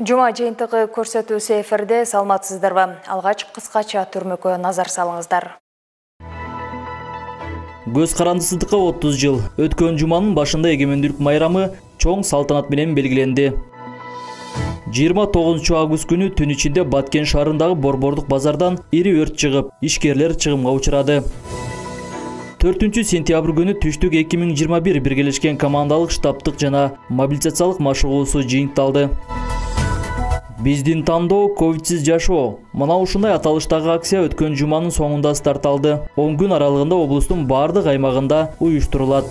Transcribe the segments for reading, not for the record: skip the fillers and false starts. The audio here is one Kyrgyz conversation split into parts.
Жума жыйынтыгы көрсөтүүсү эфирде, саламатсыздарбы? Алгач кыскача түрмөккө назар салыңыздар. Көз карандысыздыкка 30 жыл. Өткөн жуманын башында эгемендүүлүк майрамы чоң салтанат менен белгиленди. 29 август күнү түн ичинде Баткен шаарындагы Борбордук базардан ири өрт чыгып, ишкерлер чыгымга учурады. 4-сентябрь күнү түштүк 2021 биргелешкен командалык штабтык жана мобилизациялык машыгуусу жыйынтыкталды. Биздин тандоо ковидсиз жашоо. Мына ушундай аталыштагы акция өткөн жуманын соңунда старт алды. 10 күн аралыгында облустун бардык аймагында уюштурулат.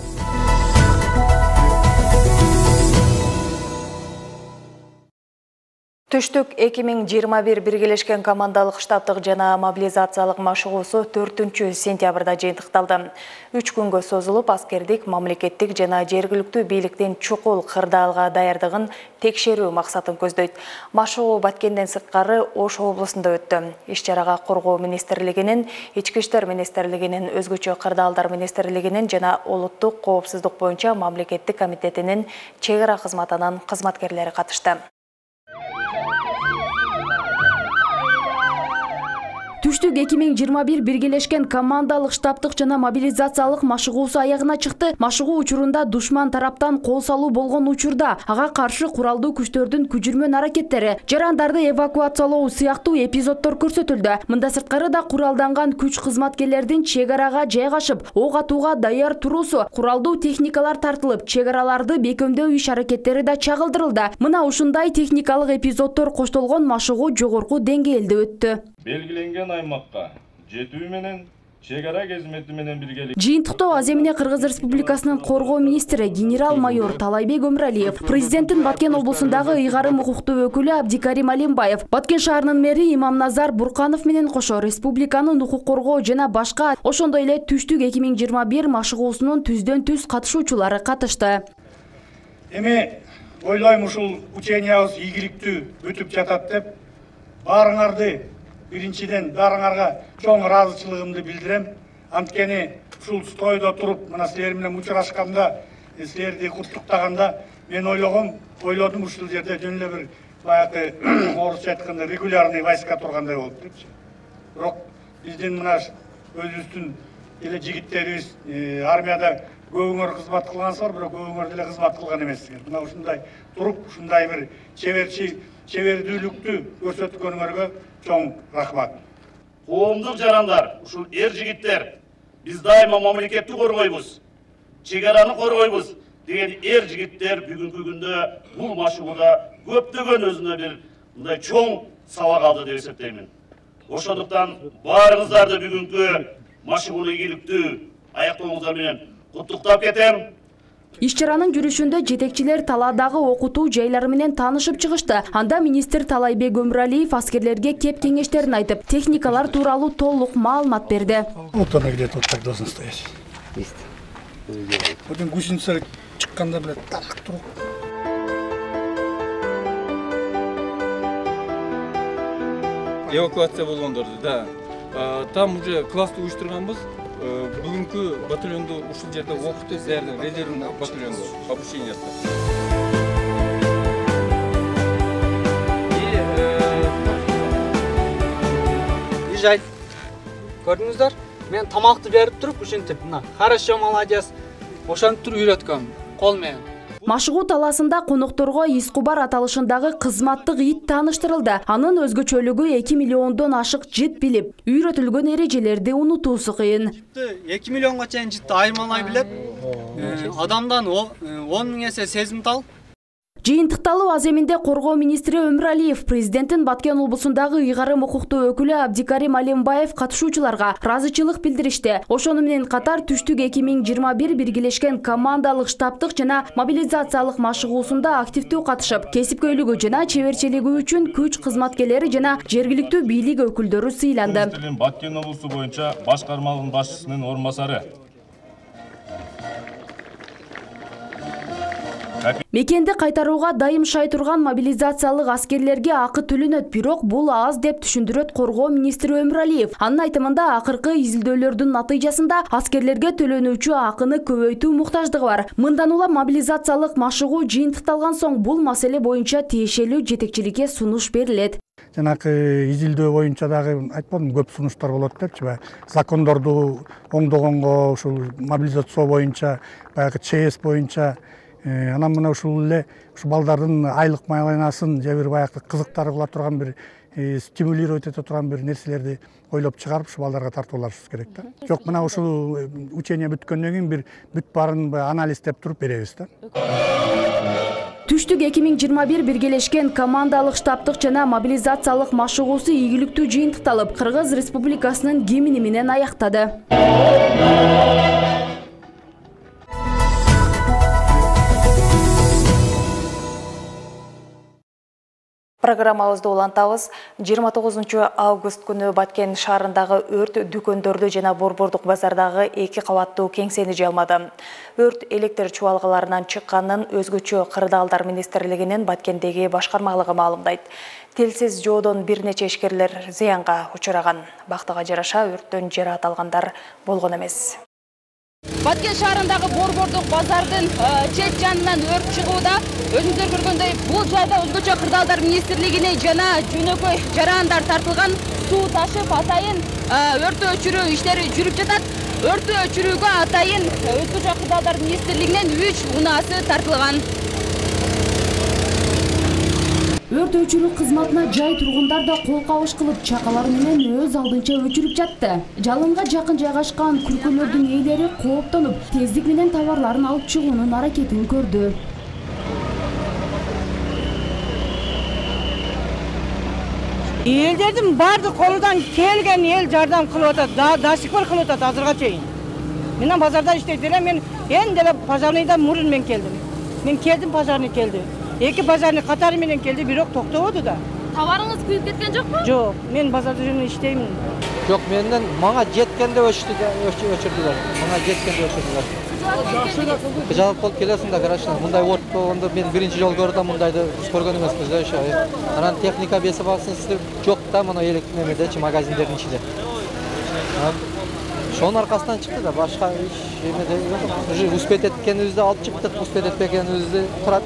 Түштүк 2021 биргелешкен командалык штабтык жана мобилизациялык машыгуусу 4-сентябрда жыйынтыкталды. 3 күнгө созулуп, аскердик, мамлекеттик жана жергиликтүү бийликтин чукул кырдаалга даярдыгын текшерүү максатын көздөйт. Машыгуу Баткенден сырткары Ош облусунда өттү. Иш-чарага Коргоо министрлигинин, Ички иштер министрлигинин, Өзгөчө кырдаалдар министрлигинин жана Улуттук коопсуздук боюнча мамлекеттик комитетинин чек ара кызматынын кызматкерлери катышты. Түштүк 2021 биргелешкен командалык штабтык жана мобилизациялык машыгуусу аягына чыкты. Машыгуу учурунда душман тараптан кол салуу болгон учурда ага каршы куралдуу күчтөрдүн күжүрмөн аракеттери, жарандарды эвакуациялоо сыяктуу эпизоддор көрсөтүлдү. Мында сырткары да куралданган күч кызматкерлердин чек арага жайгашып, ок атууга даяр туруусу, куралдуу техникалар тартылып, чек араларды бекемдөө иш аракеттери да чагылдырылды. Мына ушундай техникалык эпизоддор коштолгон машыгуу жогорку деңгээлде өттү. Белгиленген аймакка жетүү менен чек ара кызмети менен биргелик. Жыйынтыктоо аз эмне Кыргыз Республикасынын Коргоо министри генерал-майор Талайбек Өмүралиев, президенттин Баткен облусундагы ыйгарым укуктуу өкүлү Абдикарим Алимбаев, Баткен шаарынын мэри Имамназар Бурканов менен кошо республиканын укук коргоо жана башка, ошондой эле Түштүк 2021 машыгуусунун түздөн-түз катышуучулары катышты. Эми ойлойм ушул учениябыз ийгиликтүү өтүп жатат деп, баарыңарды биринчиден баарыңарга чоң ыраазычылыгымды билдирем. Анткени ушул стойдо туруп, мына силер менен учурашканда, силерди куттуктаганда мен ойлодум ушул жерде жөн эле бир баягы орусча айтканда регулярный войска тургандай болуп депчи. Бирок биздин мына өзүбүздүн эле жигиттерибиз армияда көбүңөр кызмат кылгансыздар, бирок көбүңөр деле кызмат кылган эмессиңер. Мына ушундай туруп, ушундай бир чебердүүлүктү көрсөткөнүңөргө чоң рахмат. Коомдук жарандар, ушул жигиттер, биз дайыма мамлекетти коргойбуз, чек араны коргойбуз деген жигиттер бүгүнкү күндө бул машыгууда көптөгөн өзүнө бир мындай чоң сабак алды деп эсептеймин. Ошондуктан баарыңыздарды бүгүнкү машыгууну ийгиликтүү аяктооңуздар менен куттуктап кетем. Иш-чаранын жүрүшүндө жетекчилер талаадагы окутуу жайлары менен таанышып чыгышты. Анда министр Талайбек Өмүралиев аскерлерге кеп кеңештерин айтып, техникалар тууралуу толук маалымат берди. Вот она где-то вот так должна стоять. Есть. Вот гусеница чыкканда билет так туруп. Эвакуация болгондорду, да. Там уже классту уюштурганбыз. Бүгүнкү батальонду ушул жерде окутуп, силердин резервный батальонду обучениясы. Ижай. Көрдүңүздөр? Мен тамакты берип туруп, ушинтип, мына, хорошо, молодец. Ошентип туруп үйрөткөм, кол менен. Машыгуу талаасында конокторго Искубар аталышындагы кызматтык ит тааныштырылды. Анын өзгөчөлүгү 2 миллиондон ашык жит билип, үйрөтүлгөн эрежелерди унутуусу кыйын. 2 миллионго чейин житти айырмалай билет. Адамдан 10 000 эсе сезимтал. Жыйынтыкталуу аз эминде Коргоо министри Өмүралиев, президенттин Баткен облусундагы ыйгарым укуктуу өкүлү Абдикарим Алимбаев катышуучуларга ыраазычылык билдиришти. Ошону менен катар Түштүк 2021 биргелешкен командалык штабтык жана мобилизациялык машыгуусунда активдүү катышып, кесипкөйлүгү жана чеберчилиги үчүн күч кызматкерлери жана жергиликтүү бийлик өкүлдөрү сыйланды. Баткен облусу боюнча башкармалык башчысынын орун басары Мекенди кайтарууга дайым шай турган мобилизациялык аскерлерге акы төлөнөт, бирок бул аз деп түшүндүрөт Коргоо министри Өмүралиев. Анын айтымында акыркы изилдөөлөрдүн натыйжасында аскерлерге төлөнүүчү акыны көбөйтүү муктаждыгы бар. Мындан улам мобилизациялык машыгуу жыйынтыкталган соң бул маселе боюнча тиешелүү жетекчиликке сунуш берилет. Жанакы изилдөө боюнча дагы айтпадым, көп сунуштар болот депчи, закондорду оңдогонго, ушул мобилизация боюнча, баягы ЧС боюнча, анан мына ушул эле ушу балдардын айлык майланасын же бир баягы кызыктары кыла турган бир стимулировать эте турган бир нерселерди ойлоп чыгарып ушу балдарга тартуулашыбыз керек да. Жок, мына ушул учение бүткөндөн кийин бир бүт баарын анализдеп туруп беребиз да. Түштүк 2021 биргелешкен командалык штабтык жана мобилизациялык машыгуусу ийгиликтүү жыйынтыкталып, Кыргыз Республикасынын гимни менен аяктады. Программабызды улантабыз. 29 август күнү Баткен шаарындагы өрт дүкөндөрдү жана Борбордук базардагы 2 кабаттуу кеңсени жалмады. Өрт электр чубалгаларынан чыкканын өзгөчө кырдаалдар министрлигинин Баткендеги башкармалыгы маалымдайт. Телсиз жоодон бир нече ишкерлер зыянга учураган. Бактыга жараша өрттөн жараат алгандар болгон эмес. Баткен шаарындагы Борбордук базардын чет жанынан өрт чыгууда. Өзүңүздөр көргөндөй, бул жайда өзгөчө кырдаалдар министрлигине жана жөнөкөй жараандар тартылган. Суу ташып атайын өрттү өчүрүү иштери жүрүп жатат. Өрттү өчүрүүгө атайын өзгөчө кырдаалдар министрлигинен 3 унаасы тартылган. Өрт өчүрүү кызматына жай тургундар да кол кабыш кылып, чакалар менен өз алдынча өчүрүп жатты. Жалынга жакын жайгашкан күркөлөрдүн ээлери кооптонуп, тездик менен товарларын алып чыгуунун аракетин көрдү. Элдердин баардык колунан келген эл жардам кылып атат, до сих пор кылып атат азырга чейин. Мен базарда иштейт элем, мен эң деле пожарныйдан мурун мен келдим. Мен келдим, пожарный келди. 2 пожарный катары менен келди, бирок токтободу да. Товарыңыз күйүп кеткен жокпу? Жок, мен базарда жүрүп иштеймин. Жок, менден мага жеткенде өчүрдүлөр. Мага жеткенде өчүрдүлөр. Жалп болуп келесиң да, конечно. Мындай өрт болгондо мен биринчи жолу көрдүм, мындайды көргөн эмеспиз да ошо. Анан техника бесип алсын жок да, мына электр немедечи магазиндердин ичинде. Ошонун аркасынан чыкты да, башка иш эмеде жок. Уже успеть эткенибизди алып чыктык, успеть этпегенибизди турат.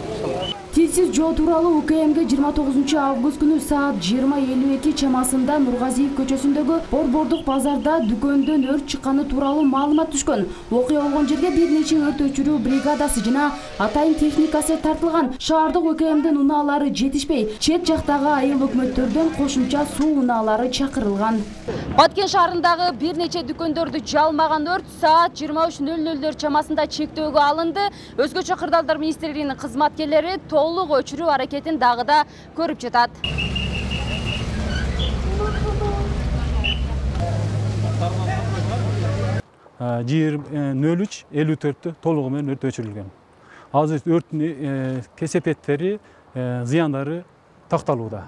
Телсиз жоо тууралуу УКМге 29 август күнү саат 20:52 чамасында Нургазиев көчөсүндөгү Борбордук базарда дүкөндөн өрт чыкканы тууралуу маалымат түшкөн. Окуя болгон жерге бир нече өрт өчүрүү бригадасы жана атайын техникасы тартылган. Шаардык УКМдин унаалары жетишпей, чет жактагы айыл өкмөттөрдөн кошумча суу унаалары чакырылган. Баткен шаарындагы бир нече дүкөндөрдү жалмаган өрт саат 23:00 чамасында чектөөгө алынды. Өзгөчө кырдаалдар министрлигинин кызматкерлери толук өчүрүү аракетин дагы да көрүп жатат. Жер 03:54 толугу менен өрт өчүрүлгөн. Азыр өрттүн кесепеттери, зыяндары такталууда.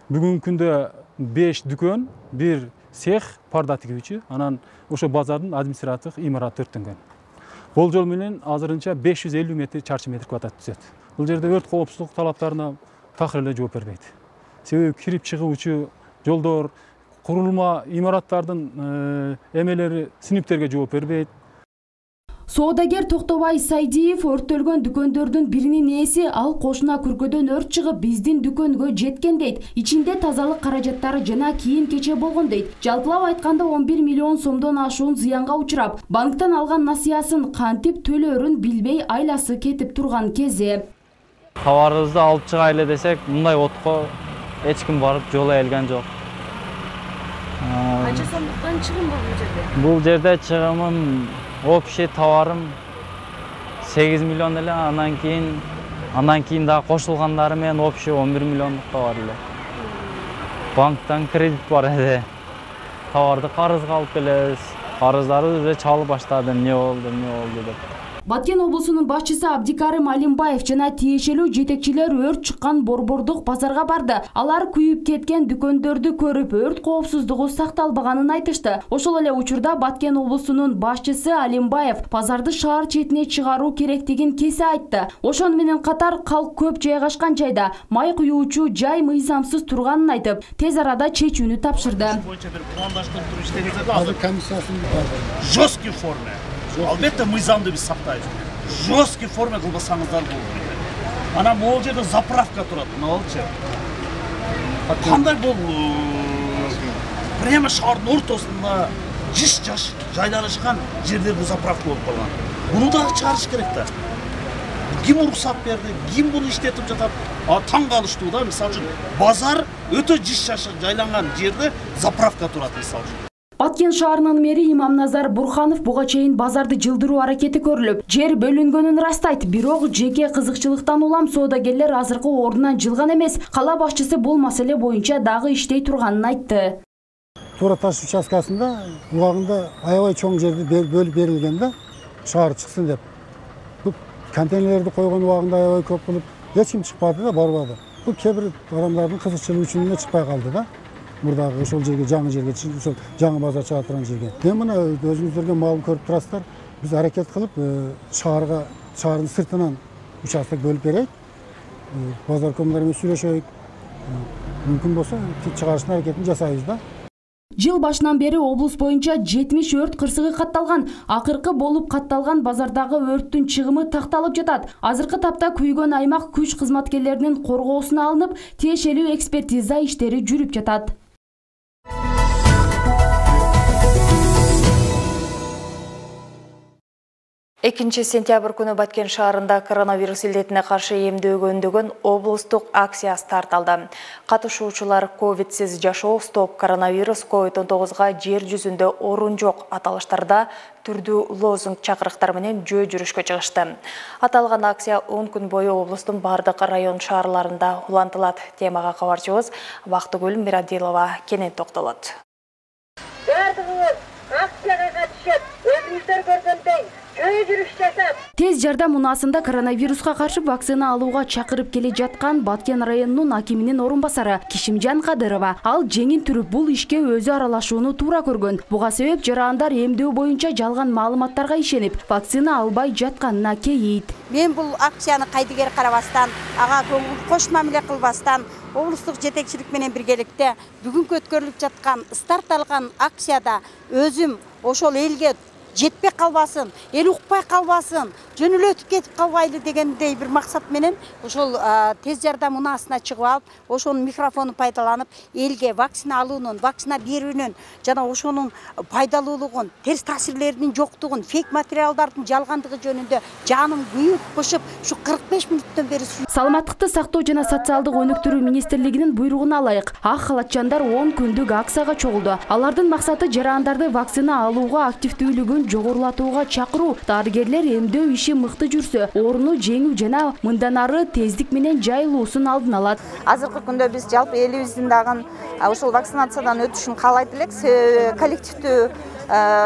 Бүгүнкү күндө 5 дүкөн, 1 цех парда тигүүчү, анан ошо базардын административдик имараты өрттөнгөн. Болжол менен азырынча 550 чарчы метр квадрат түзөт. Бул жерде өрт коопсуздук талаптарына такыр эле жооп бербейт. Себеби кирип чыгуучу жолдор, курулма имараттардын эмелери синиптерге жооп бербейт. Соодагер Токтобай Сайдиев өрттөлгөн дүкөндөрдүн биринин ээси, ал кошуна күркөдөн өрт чыгып биздин дүкөнгө жеткен дейт. Ичинде тазалык каражаттары жана кийим-кече болгон дейт. Жалпылап айтканда 11 миллион сомдон ашуун зыянга учурап, банктан алган насыясын кантип төлөөрүн билбей айласы кетип турган кези. Товарыбызды алып чыга эле десек, мындай отко эч ким барып жол ээлген жок. Канча сомдуктан чыгым бар бул жерде? Бул жерде чыгымым общий товарым 8 миллион эле, андан кийин дагы кошулгандары менен общий 11 миллиондук товар эле. Банктан кредит бар эди. Товарды карызга алып келебиз. Карыздарды уже чалып баштады, эмне болду деп. Баткен облусунун башчысы Абдикарим Алимбаев жана тиешелүү жетекчилер өрт чыккан борбордук базарга барды. Алар күйүп кеткен дүкөндөрдү көрүп, өрт коопсуздугу сакталбаганын айтышты. Ошол эле учурда Баткен облусунун башчысы Алимбаев базарды шаар четине чыгаруу керектигин кесе айтты. Ошону менен катар калк көп жайгашкан жайда май куюучу жай мыйзамсыз турганын айтып, тез арада чечүүнү тапшырды. Жесткий форме. Албетте мыйзамды биз сактайбыз. Жесткий форме кылбасаңыздар болот. Анан могул жерде заправка турат, мына болчу. Кандай бул прямо шаардын ортосунда жаш жайланышкан жерде бул заправка болуп калган. Буну дагы чыгарыш керек да. Ким уруксат берди, ким буну иштетип жатат? Таң калыштуу да, мисалы үчүн базар өтө жаш жайланган жерде заправка турат, мисалы үчүн. Баткен шаарынын мэри Имамназар Бурханов буга чейин базарды жылдыруу аракети көрүлүп, жер бөлүнгөнүн ырастайт. Бирок жеке кызыкчылыктан улам соодагерлер азыркы ордунан жылган эмес. Кала башчысы бул маселе боюнча дагы иштей турганын айтты. Туура таш участкасында убагында аябай чоң жерди бөлүп берилген да, шаар чыксын деп. Бул контейнерлерди койгон убагында аябай көп болуп, эч ким чыкпады да, барбады. Бул кээ бир адамдардын кызыкчылыгы үчүн эле чыкпай калды да. Мурдагы ошол жерге, жаңы жерге, ошол жаңы базар чыга турган жерге. Мен мына өзүңүздөргө маалым көрүп турасыздар. Биз аракет кылып шаардын сыртынан участок бөлүп берейик. Базаркомдор менен сүйлөшөйүк. Мүмкүн болсо чыгарыштын аракетин жасайбыз да. Жыл башынан бери облус боюнча 70 өрт кырсыгы катталган. Акыркы болуп катталган базардагы өрттүн чыгымы такталып жатат. Азыркы тапта күйгөн аймак күч кызматкерлеринин коргоосуна алынып, тиешелүү экспертиза иштери жүрүп жатат. 2 сентябрь күнү Баткен шаарында коронавирус илдетине каршы эмдөөгө үндөгөн облустук акция старт алды. Катышуучулар ковидсиз жашоо, стоп коронавирус, COVID-19 жер жүзүндө орун жок аталыштарда түрдүү лозунг чакырыктар менен жөө жүрүшкө чыгышты. Аталган акция 10 күн бою облустун бардык район шаарларында улантылат. Темага кабарчыбыз Бактыгүл Мирадилова кенен токтолот. Бардыгыңыз акцияга катышып, өзүңүздөр көргөндөй Тез жардам унаасында коронавируска каршы вакцина алууга чакырып келе жаткан Баткен районунун акиминин орун басары Кишимжан Кадырова ал жеңин түрүп бул ишке өзү аралашууну туура көргөн. Буга себеп жарандар эмдөө боюнча жалган маалыматтарга ишенип, вакцина албай жатканына кейийт. Мен бул акцияны кайдыгер карабастан, ага кош мамиле кылбастан, облустук жетекчилик менен биргеликте бүгүнкү өткөрүлүп жаткан старт алган акцияда өзүм ошол элге жетпей калбасын, эл укпай калбасын, жөнөлөтүп кетип калбайлы дегендей бир максат менен ошол тез жардам унаасына чыгып алып, ошонун микрофонун пайдаланып, элге вакцина алуунун, вакцина берүүнүн жана ошонун пайдалуулугун, терс таасирлеринин жоктугун, фейк материалдардын жалгандыгы жөнүндө жаным күйүп кышып, ушу 45 мүнөттөн бери Саламаттыкты сактоо жана социалдык өнүктүрүү министрлигинин буйругуна ылайык ак халатчандар 10 күндүк акцияга чогулду. Алардын максаты жарандарды вакцина алууга активдүүлүгүн жогорулатууга чакыруу. Дарыгерлер эмдөө иши мыкты жүрсө, ооруну жеңүү жана мындан ары тездик менен жайылуусун алдын алат. Азыркы күндө биз жалпы элибиздин дагы ошол вакцинациядан өтүшүн каалайт элек. Коллективдүү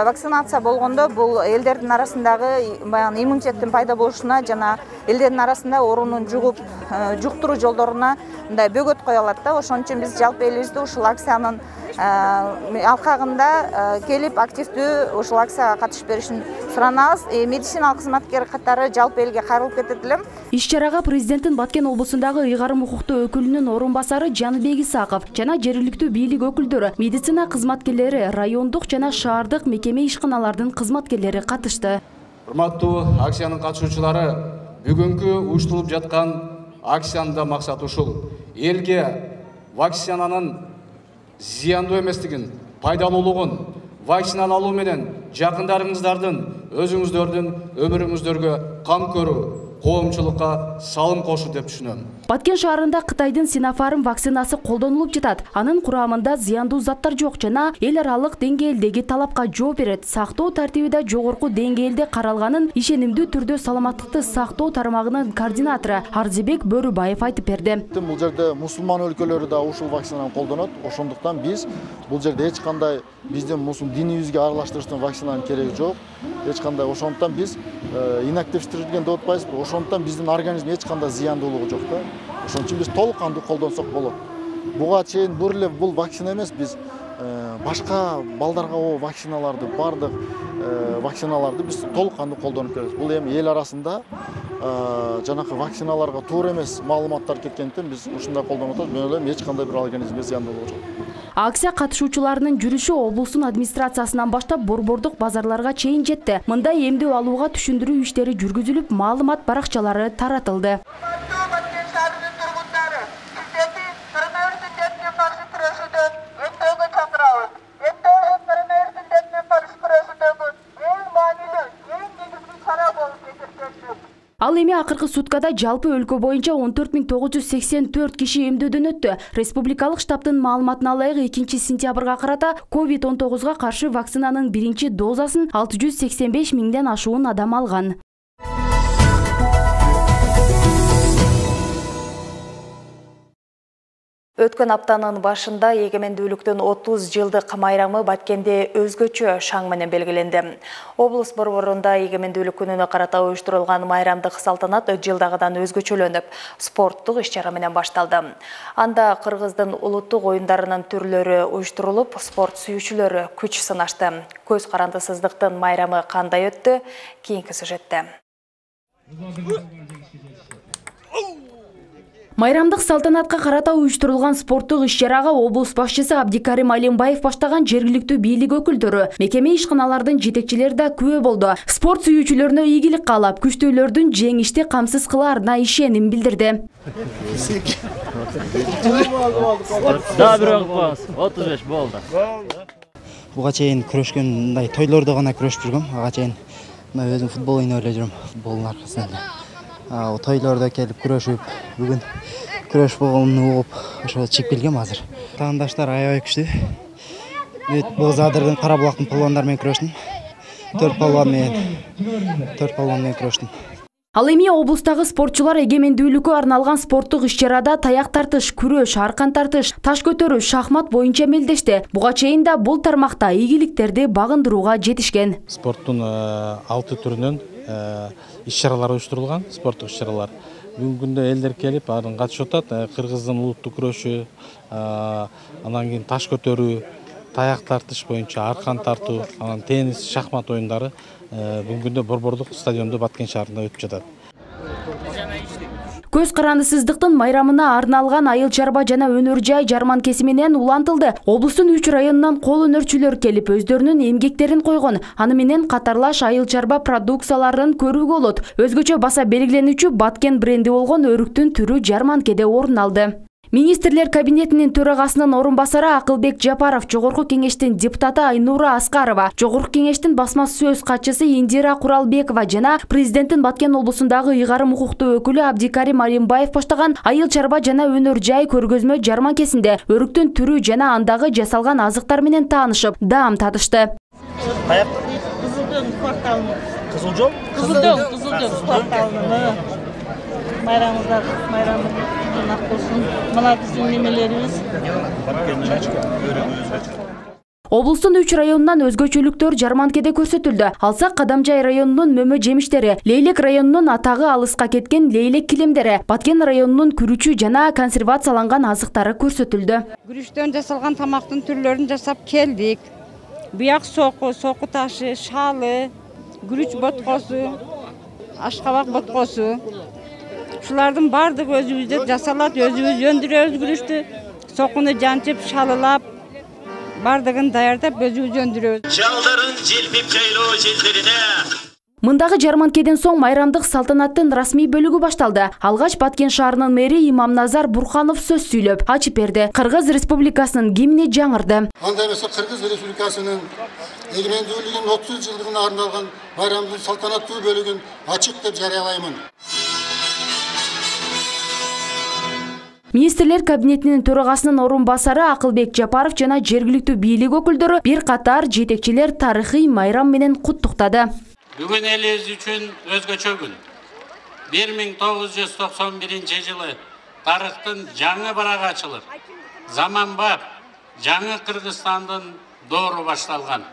вакцинация болгондо бул элдердин арасындагы баягы иммунитеттин пайда болушуна жана элдердин арасында оорунун жуктуруу жолдоруна мындай бөгөт кое алат да. Ошон үчүн биз жалпы элибизде ушул акциянын алкагында келип активдүү ушул акцияга катышып беришин суранабыз. Медициналык кызматкер катары жалпы элге кайрылып кетет элем. Иш-чарага президенттин Баткен облусундагы ыйгарым укуктуу өкүлүнүн орун басары Жаныбек Исаков жана жергиликтүү бийлик өкүлдөрү, медицина кызматкерлери, райондук жана шаардык мекеме ишканалардын кызматкерлери катышты. Урматтуу акциянын катышуучулары, бүгүнкү уюштурулуп жаткан акциянын максаты ушул: элге вакцинанын зыяндуу эместигин, пайдалуулугун, вакцина алуу менен жакындарыңыздардын, өзүңүздөрдүн өмүрүңүздөргө кам көрүү, коомчулукка салым кошуу деп түшүнөм. Баткен шаарында Кытайдын Sinopharm вакцинасы колдонулуп жатат. Анын курамында зыяндуу заттар жок жана эл аралык деңгээлдеги талапка жооп берет. Сактоо тартиби да жогорку деңгээлде каралганын ишенимдүү түрдө саламаттыкты сактоо тармагынын координатору Арзыбек Бөрүбаев айтып берди. Бул жерде мусулман өлкөлөрү да ушул вакцинаны колдонот. Ошондуктан биз бул жерде эч кандай биздин динибизге аралаштырыштын вакцинанын кереги жок. Эч кандай ошондуктан биз инактивдештирилген деп атпайбызбы? Ошондуктан биздин организмге эч кандай зыяндуулугу жок да. Ошон үчүн биз толук кандуу колдонсок болот. Буга чейин бул вакцина эмес, биз башка балдарга вакциналарды, бардык вакциналарды биз толук кандуу колдонуп келебиз. Бул эми эл арасында жанакы вакциналарга туура эмес маалыматтар кеткендиктен биз ушундай колдонуп атабыз. Мен ойлойм, эч кандай бир организмге зыяндуулугу жок. Акция катышуучуларынын жүрүшү облустун администрациясынан баштап борбордук базарларга чейин жетти. Мында эмдөө алууга түшүндүрүү иштери жүргүзүлүп, маалымат баракчалары таратылды. Ал эми акыркы суткада жалпы өлкө боюнча 14984 киши эмдөөдөн өттү. Республикалык штабтын маалыматына ылайык 2 сентябрга карата COVID-19 каршы вакцинанын биринчи дозасын 685 миңден ашуун адам алган. Өткөн аптанын башында эгемендүүлүктүн 30 жылдык майрамы Баткенде өзгөчө шаң менен белгиленди. Облус борборунда эгемендүүлүк күнүнө карата уюштурулган майрамдык салтанат жылдагыдан өзгөчөлөнүп, спорттук иш-чара менен башталды. Анда кыргыздын улуттук оюндарынын түрлөрү уюштурулуп, спорт сүйүүчүлөрү күч сынашты. Көз карандысыздыктын майрамы кандай өттү? Кийинки сюжетте. Майрамдык салтанатка карата уюштурулган спорттук иш-чарага облус башчысы Абдикарим Алимбаев баштаган жергиликтүү бийлик өкүлдөрү, мекеме ишканалардын жетекчилери да күбө болду. Спорт сүйүүчүлөрүнө ийгилик каалап, күчтүүлөрдүн жеңишти камсыз кылаарына ишеним билдирди. Да, бирок 35 болду. Буга чейин күрөшкөн мындай тойлордо гана күрөшүп жүргөм. Ага чейин мына өзүм футбол ойноп эле жүрөм, футболдун аркасында. Тойлордо келип күрөшүп, бүгүн күрөш болгонун угуп, ошо чыгып келгем азыр. Таңдаштар аябай күчтүү. Боз Адырдын Кара булактын палвандары менен күрөштүм. 4 палван менен күрөштүм. Ал эми облустагы спортчулар эгемендүүлүккө арналган спорттук иш-чарада таяк тартыш, күрөш, аркан тартыш, таш көтөрүү, шахмат боюнча мелдешти. Буга чейин да бул тармакта ийгиликтерди багындырууга жетишкен. Спорттун 6 түрүнөн иш-чаралар уюштурулган, спорттук иш-чаралар. Бүгүнкү күндө элдер келип, аны катышып атат. Кыргыздын улуттук күрөшү, анан кийин таш көтөрүү, таяк тартыш боюнча аркан тартуу, анан теннис, шахмат оюндары бүгүнкү күндө борбордук стадиондо Баткен шаарында өтүп жатат. Көз карандысыздыктын майрамына арналган айыл чарба жана өнөр жай жарманкеси менен улантылды. Облустун 3 районунан кол өнөрчүлөр келип өздөрүнүн эмгектерин койгон. Аны менен катарлаш айыл чарба продукцияларын көрүүгө болот. Өзгөчө баса белгиленүүчү Баткен бренди болгон өрүктүн түрү жарманкеде орун алды. Министрлер кабинетинин төрагасынын орун басары Акылбек Жапаров, Жогорку кеңештин депутаты Айнура Аскарова, Жогорку кеңештин басма сөз катчысы Индира Куралбекова жана президенттин Баткен облусундагы ыйгарым укуктуу өкүлү Абдикарим Алимбаев баштаган айыл чарба жана өнөр жай көргөзмө жарманкесинде өрүктүн түрү жана андагы жасалган азыктар менен таанышып, даам татышты. Кызылдөн кварталына. Кызылжол? Кызылдөн кварталына. Майрамыңыздар, ак болсун. Мына биздин немелерибиз. Облустун 3 районунан өзгөчөлүктөр жарманкеде көрсөтүлдү. Алсак Кадамжай районунун мөмө жемиштери, Лейлек районунун атагы алыска кеткен лейлек килемдери, Баткен районунун күрүчү жана консервацияланган азыктары көрсөтүлдү. Күрүчтөн жасалган тамактын түрлөрүн жасап келдик. Буяк соку, соку ташы, шалы, күрүч боткосу, ашкабак боткосу. Ушулардын бардыгы өзүбүздө жасалат, өзүбүз өндүрөбүз күрүчтү. Сокуну жанчып, шалылап, бардыгын даярдап өзүбүз өндүрөбүз. Жалдарын желпип жайлоо желдерине. Мындагы жарманкеден соң майрамдык салтанаттын расмий бөлүгү башталды. Алгач Баткен шаарынын мэри Имамназар Бурханов сөз сүйлөп, ачып берди. Кыргыз Республикасынын гимни жаңырды. Анда эмесе Кыргыз Республикасынын эгемендүүлүгүнүн 30 жылдыгына арналган майрамдын салтанаттуу бөлүгүн ачык деп жарыялаймын. Министрлер кабинетинин төрагасынын орун басары Акылбек Жапаров жана жергиликтүү бийлик өкүлдөрү бир катар жетекчилер тарыхый майрам менен куттуктады. Бүгүн элибиз үчүн өзгөчө күн. 1991 жылы тарыхтын жаңы барагы ачылып, заманбап жаңы Кыргызстандын доору башталган.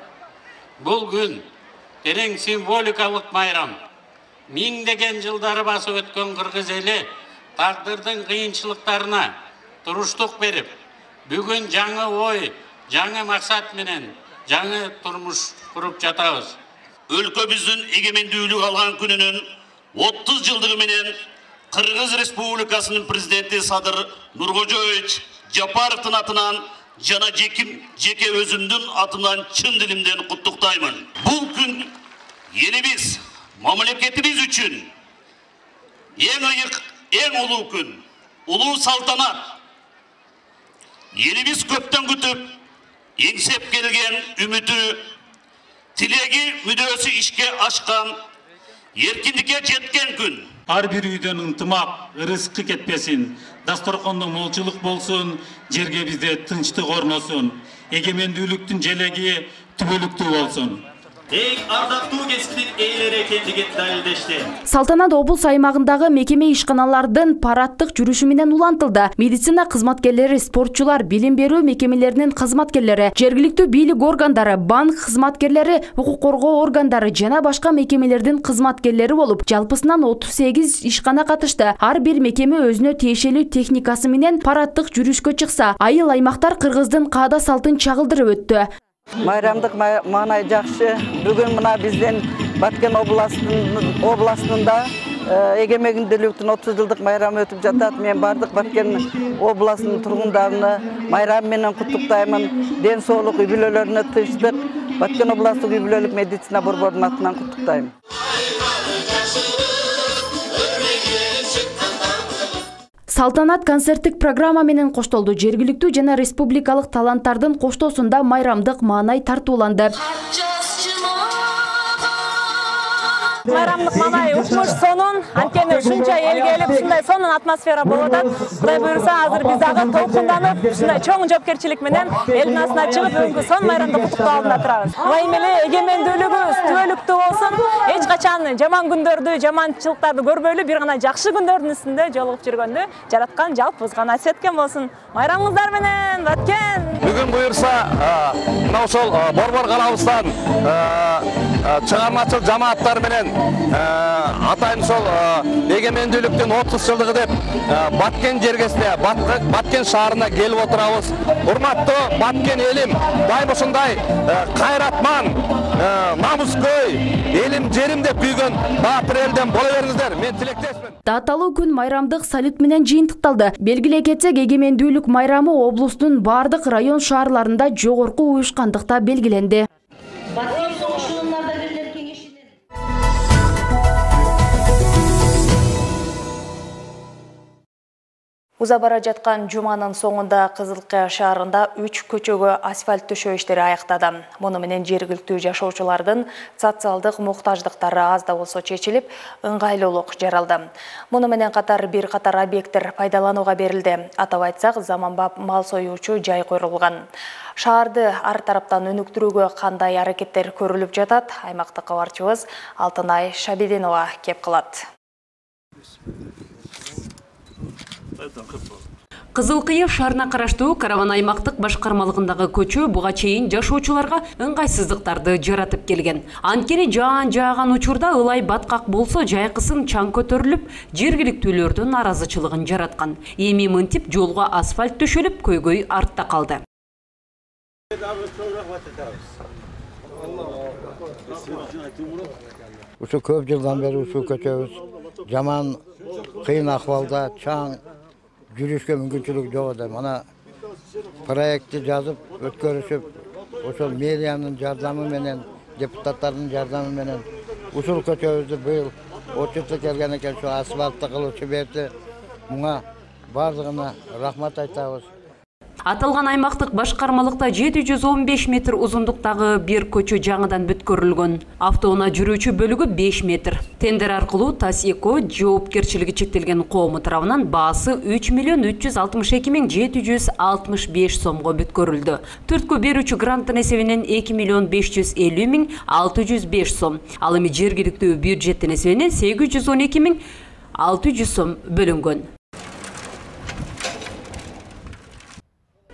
Бул күн терең символикалык майрам. Миңдеген жылдары басып өткөн кыргыз эли тагдырдын кыйынчылыктарына туруштук берип, бүгүн жаңы ой, жаңы максат менен жаңы турмуш куруп жатабыз. Өлкөбүздүн эгемендүүлүк алган күнүнүн 30 жылдыгы менен Кыргыз Республикасынын президенти Садыр Нуркожоевич Жапаровдун атынан жана жеке өзүмдүн атынан чын дилимден куттуктаймын. Бул күн элибиз, мамлекетибиз үчүн эң ыйык, эң улуу күн, улуу салтанат. Элибиз көптөн күтүп, эңсеп келген үмүтү, тилеги, мүдөөсү ишке ашкан, эркиндикке жеткен күн. Ар бир үйдөн ынтымак, ырыскы кетпесин, дасторкондо молчулук болсун, жерге бизде тынчтык орносун, эгемендүүлүктүн желеги түбөлүктүү болсун. Эң ардактуу кесиптин ээлери экендигин далилдешти. Салтанат облус аймагындагы мекеме ишканалардын парадтык жүрүшү менен улантылды. Медицина кызматкерлери, спортчулар, билим берүү мекемелеринин кызматкерлери, жергиликтүү бийлик органдары, банк кызматкерлери, укук коргоо органдары жана башка мекемелердин кызматкерлери болуп, жалпысынан 38 ишкана катышты. Ар бир мекеме өзүнө тиешелүү техникасы менен парадтык жүрүшкө чыкса, айыл аймактар Кыргыздын каада салтын чагылдырып өттү. Майрамдык маанай жакшы. Бүгүн мына биздин Баткен областында эгемендүүлүктүн 30 жылдык майрамы өтүп жатат. Мен бардык Баткен областынын тургундарыны майрам менен куттуктаймын. Ден соолук үй бүлөлөрүнө тынчтык, Баткен областтык үй бүлөлүк медицина борборунун атынан куттуктайм. Салтанат концерттик программа менен коштолду. Жергиликтүү жана республикалык таланттардын коштоосунда майрамдык маанай тартууланды. Майрамдык маанай укмуш сонун, анткени ушунча элге келип, ушундай сонун атмосфера болуп атат. Кудай буйруса, азыр биз дагы толкунданып, ушундай чоң жоопкерчилик менен элдин арасына чыгып, бүгүнкү сонун майрамды куттуктоо алдында турабыз. Ылайым эле эгемендүүлүгүбүз түбөлүктүү болсун. Эч качан жаман күндөрдү, жаманчылыктарды көрбөйлү, бир гана жакшы күндөрдүн үстүндө жолугуп жүргөндү жараткан жалпыбызга насип эткен болсун. Майрамыңыздар менен, Баткен! Бүгүн буйруса, мына ошол борбор калабыздан чыгармачыл жамааттар менен атайын ошол эгемендүүлүктүн 30 жылдыгы деп Баткен жергесине, Баткен шаарына келип отурабыз. Урматтуу Баткен элим, дайым ушундай кайратман, намыскөй, элим жерим деп күйгөн баатыр элден боло бериңиздер. Мен тилектешмин. Даталуу күн майрамдык салют менен жыйынтыкталды. Белгилей кетсек, эгемендүүлүк майрамы облустун бардык район шаарларында жогорку уюшкандыкта белгиленди. Уза бара жаткан жуманын соңунда Кызылкая шаарында 3 көчөгө асфальт төшөө иштери аяктады. Муну менен жергиликтүү жашоочулардын социалдык муктаждыктары аз да болсо чечилип, ыңгайлуулук жаралды. Муну менен катар бир катар объекттер пайдаланууга берилди. Атап айтсак, заманбап мал союучу жай курулган. Шаарды ар тараптан өнүктүрүүгө кандай аракеттер көрүлүп жатат? Аймактык кабарчыбыз Алтынай Шабидинова кеп кылат. Кызылкыя шаарына караштуу Караван аймактык башкармалыгындагы көчө буга чейин жашоочуларга ыңгайсыздыктарды жаратып келген. Анткени жааган учурда ылай баткак болсо жайкысын чаң көтөрүлүп, жергиликтүүлөрдүн наразычылыгын жараткан. Эми мынтип жолго асфальт төшөлүп, көйгөй артта калды. Ушу көп жылдан бери ушул көчөбүз жаман кыйын акыбалда, чаң жүрүшкө мүмкүнчүлүк жок эди. Мана проектти жазып, өткөрүшүп, ошол мэриянын жардамы менен, депутаттардын жардамы менен ушул көчөбүздү быйыл отчетко келген экен, ошо асфальтты кылып жиберди. Муга бардыгына рахмат айтабыз. Аталган аймактык башкармалыкта 715 метр узундуктагы бир көчө жаңыдан бүткөрүлгөн. Автоунаа жүрүүчү бөлүгү 5 метр. Тендер аркылуу Тасеко жоопкерчилиги чектелген коому тарабынан баасы 3.362.765 сомго бүткөрүлдү. Төрткө берүүчү гранттын эсебинен 2.550.605 сом. Ал эми жергиликтүү бюджеттин эсебинен 812.600 сом бөлүнгөн.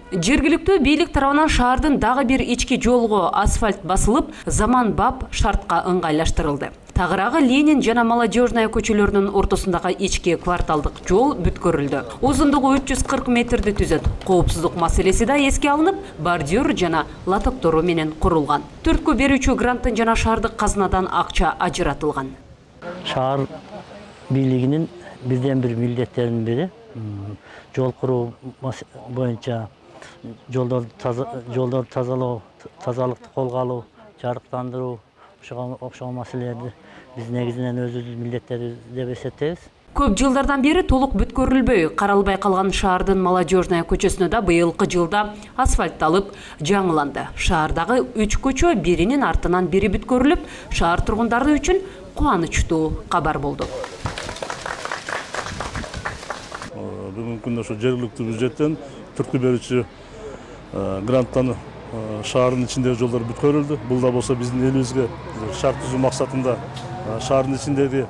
Жергиликтүү бийлик тарабынан шаардын дагы бир ички жолго асфальт басылып, заманбап шартка ыңгайлаштырылды. Тагыраагы Ленин жана Молодежная көчөлөрүнүн ортосундагы ички кварталдык жол бүткөрүлдү. Узундугу 340 метрди түзөт. Коопсуздук маселеси да эске алынып, бордюр жана лотоктору менен курулган. Төрткө берүүчү гранттын жана шаардык казынадан акча ажыратылган. Шаар бийлигинин бирден бир милдеттеринин бири жол куруу боюнча жолдорду тазалоо, тазалыкты колго алуу, жарыктандыруу окшогон маселелерди биз негизинен өзүбүздүн милдеттерибиз деп эсептейбиз. Көп жылдардан бери толук бүткөрүлбөй каралбай калган шаардын Молодежная көчөсүнө да быйылкы жылда асфальтталып жаңыланды. Шаардагы 3 көчө биринин артынан бири бүткөрүлүп, шаар тургундары үчүн кубанычтуу кабар болду. Бүгүнкү күндө ошо жергиликтүү бюджеттен түрткү берүүчү гранттан шаардын ичиндеги жолдор бүткөрүлдү. Бул да болсо биздин элибизге шарт түзүү максатында шаардын ичиндеги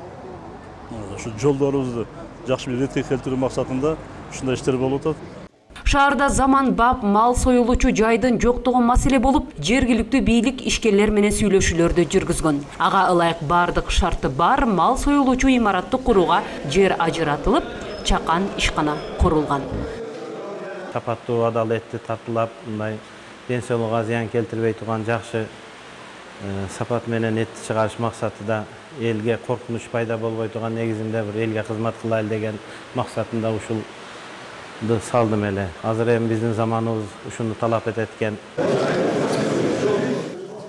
ушу жолдорубузду жакшы бир ретке келтирүү максатында ушундай иштер болуп атат. Шаарда заманбап мал союлуучу жайдын жоктугу маселе болуп, жергиликтүү бийлик ишкерлер менен сүйлөшүүлөрдү жүргүзгөн. Ага ылайык бардык шарты бар мал союлуучу имаратты курууга жер ажыратылып, чакан ишкана курулган. Сапаттуу, адалеттүү тартылап, мындай ден соолукка зыян келтирбей турган жакшы сапат менен этти чыгарыш максатында элге коркунуч пайда болбой турган негизинде бир элге кызмат кылайлы деген максатында ушулду салдым эле. Азыр эми биздин заманыбыз ушуну талап этет экен.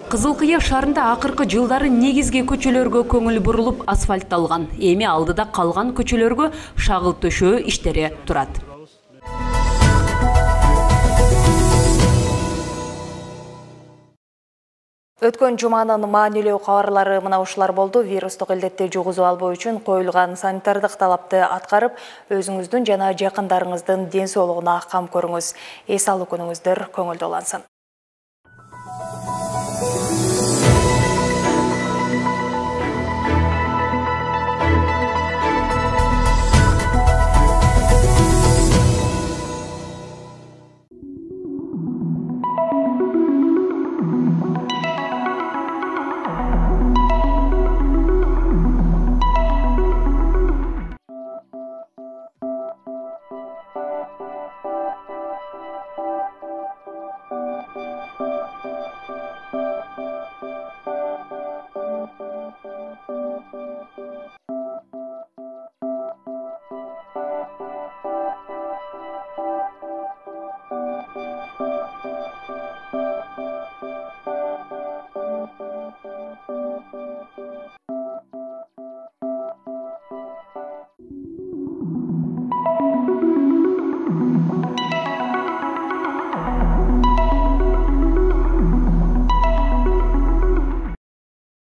Кызыл Кыя шаарында акыркы жылдары негизги көчөлөргө көңүл бурулуп асфальтталган. Эми алдыда калган көчөлөргө шагыл төшөө иштери турат. Өткөн жуманын маанилүү кабарлары мына ушулар болду. Вирустук илдетти жугузуп албоо үчүн коюлган санитардык талапты аткарып, өзүңүздүн жана жакындарыңыздын ден соолугуна кам көрүңүз. Эс алуу күнүңүздөр көңүлдүү улансын.